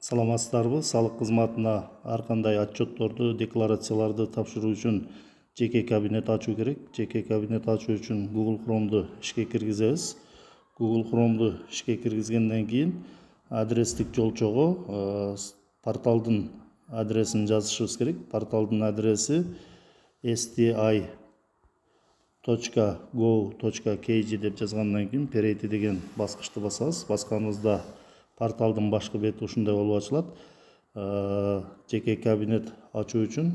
Саламатсыздарбы? Салык кызматына ар кандай отчетторду, декларацияларды тапшыруу үчүн жеке кабинет ачуу керек. Жеке кабинет ачуу үчүн Google Chrome'ду ишке киргизебиз. Google Chrome'ду ишке киргизгенден кийин адрестик жолчого порталдын адресин жазышыбыз керек. Порталдын адреси sti.go.kg деп жазгандан кийин перейти деген баскычты басабыз. Басканыбызда порталдын башкы бети ушундай болуп ачылат. Жеке кабинет ачуу үчүн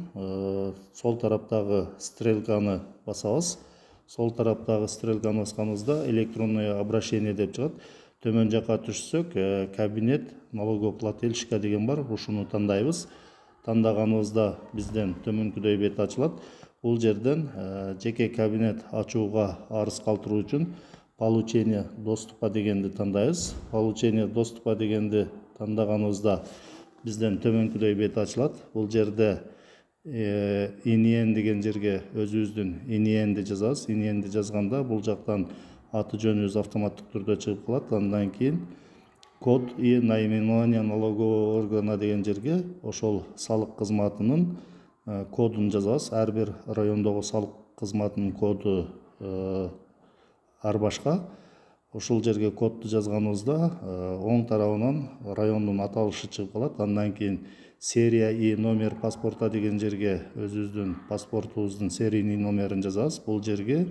сол тараптагы стрелканы басабыз. Сол тараптагы стрелканы басканыбызда электронное обращение деп чыгат. Төмөн жакка түшсөк, кабинет налогоплательщика деген бар. Ушуну тандайбыз. Тандаганыбызда бизден төмөнкүдөй бет ачылат. Бул жерден жеке кабинет ачууга арыз калтыруу үчүн получение доступа дегенди тандайбыз. Получение доступа дегенди тандаганыбызда бизден төмөнкүдөй бет ачылат. Бул жерде INN деген жерге өзүбүздүн INNди жазабыз. INNди жазганда бул жактан аты жөнүбүз автоматтык түрдө чыгып калат. Андан кийин код и наименование налогового органа деген жерге ошол салык кызматынын кодун жазабыз. Ар бир райондогу салык кызматынын коду ар башка. Ошол жерге кодду жазганыбызда оң тарабынан райондун аталышы чыгып калат. Андан кийин серия и номер паспорта деген жерге өзүбүздүн паспортубуздун серийный номерин жазабыз. Бул жерге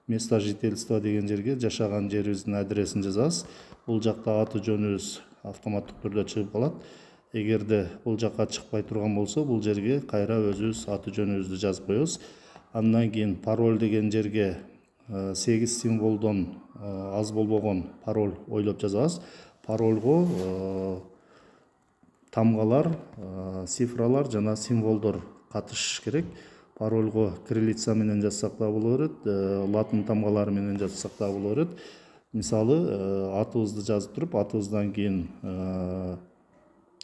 место жительства деген жерге жашаган жерибиздин адресин жазабыз. Бул жакта аты жөнүбүз автоматтык түрдө чыгып калат. Эгерде бул жакка чыкпай турган болсо, бул жерге кайра өзүбүз аты жөнүбүздү жазып коебуз. Андан кийин пароль деген жерге 8 символдон аз болбогон пароль ойлоп жазабыз. Парольго тамгалар, цифралар жана символдор катышыш керек. Парольго кириллица менен жазсак да боло берет, латын тамгалары менен жазсак да боло берет. Мисалы, атыбызды жазып туруп, атыбыздан кийин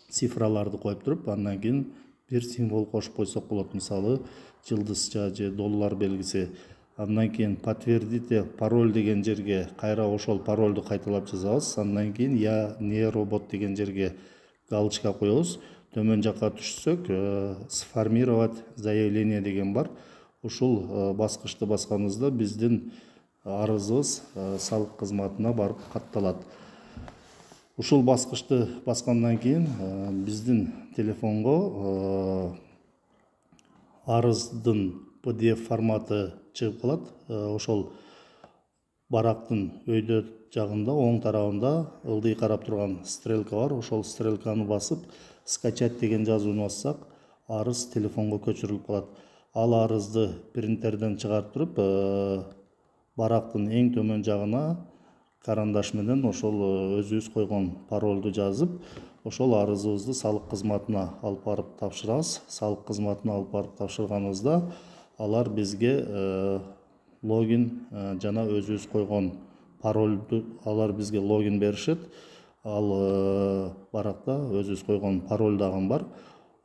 цифраларды коюп туруп, андан кийин бир символ кошуп койсок болот. Мисалы, жылдызча же доллар белгиси. Андан кийин подтвердите пароль деген жерге кайра ошол парольду кайталап жазабыз. Андан кийин я не робот деген жерге галочка коебуз. Төмөн жакка түшсөк, сформировать заявление деген бар. Ушул баскычты басканыбызда биздин арызыбыз салык кызматына барып катталат. Ушул баскычты баскандан кийин биздин телефонго арыздын PDF форматы чыгып калат. Ошол барактын өйдө жагында оң тарабында ылдый карап турган стрелка бар. Ошол стрелканы басып, скачать деген жазууну бассак, арыз телефонго көчүрүлүп калат. Ал арызды принтерден чыгарып туруп, барактын эң төмөн жагына карандаш менен ошол өзүбүз койгон парольду жазып, ошол арызыбызды салык кызматына алып барып тапшырабыз. Салык кызматына алып барып тапшырганыбызда алар бизге логин жана өзүбүз койгон парольду алар бизге логин беришет. Ал баракта өзүбүз койгон пароль дагы бар.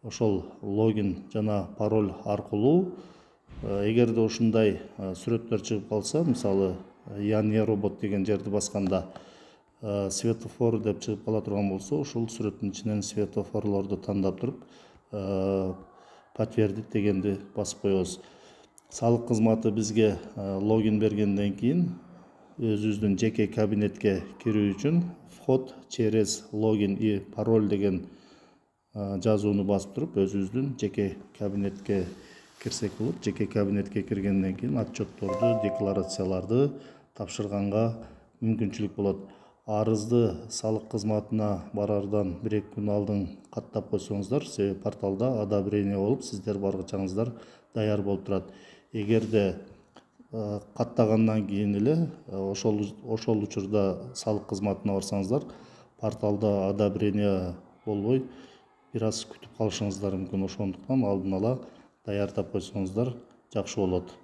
Ошол логин жана пароль аркылуу эгерде ушундай сүрөттөр чыгып калса, мисалы, я не робот деген жерди басканда светофор деп чыгып кала турган болсо, ушул сүрөттүн ичинен светофорлорду тандап туруп подтвердить дегенди басып коебуз. Салык кызматы бизге логин бергенден кийин өзүбүздүн жеке кабинетке кирүү үчүн вход через логин и пароль деген жазууну басып туруп, өзүбүздүн жеке кабинетке кирсек болот. Жеке кабинетке киргенден кийин отчетторду, декларацияларды тапшырганга мүмкүнчүлүк болот. Арызды салык кызматына барардан 1-2 күн алдын каттап койсоңуздар, себеби порталда одобрение болуп, сиздер баргычаңыздар даяр болуп турат. Эгерде каттагандан кийин эле ошол учурда салык кызматына барсаңыздар, порталда одобрение болбой, бир аз күтүп калышыңыздар мүмкүн. Ошондуктан алдын ала даярдап койсоңуздар жакшы болот.